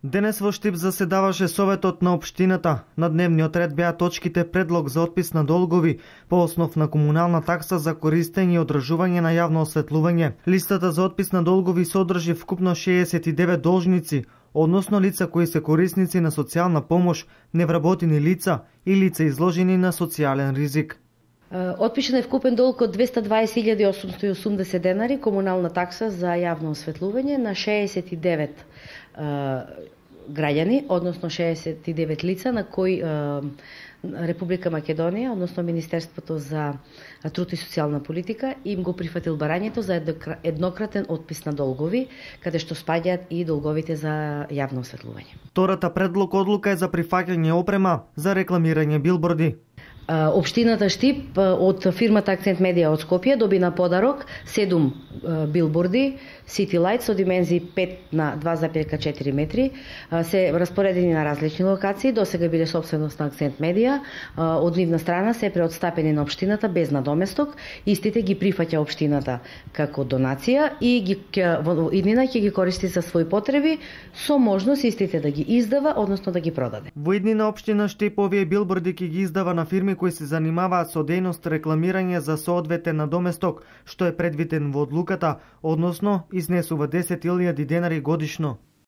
Денес во Штип заседаваше Советот на општината. На дневниот ред беа точките предлог за отпис на долгови по основ на комунална такса за користење и одржување на јавно осветлување. Листата за отпис на долгови содржи вкупно 69 должници, односно лица кои се корисници на социјална помош, невработени лица и лица изложени на социјален ризик. Отпишен е вкупен долг од 220.880 денари комунална такса за јавно осветлување на 69 граѓани, односно 69 лица на кои Република Македонија, односно Министерството за труд и социјална политика им го прифатил барањето за еднократен отпис на долгови, каде што спаѓаат и долговите за јавно осветлување. Втората предлог одлука е за прифаќање опрема за рекламирање билборди. Општината Штип од фирмата Акцент Медија од Скопје доби на подарок 7 билборди City Light со димензии 5 на 2,4 метри. Се распоредени на различни локации, досега биле собственост на Акцент Медија. Од нивна страна се преотстапени на општината без надоместок. Истите ги прифаќа општината како донација и иднина ќе ги користи за своји потреби, со можност истите да ги издава, односно да ги продаде. Во иднина општина Штип овие билборди ќе ги издава на фирми кои се занимаваат со дејност рекламирање за соодветен надоместок, што е предвиден во одлуката, односно изнесува 10.000 денари годишно.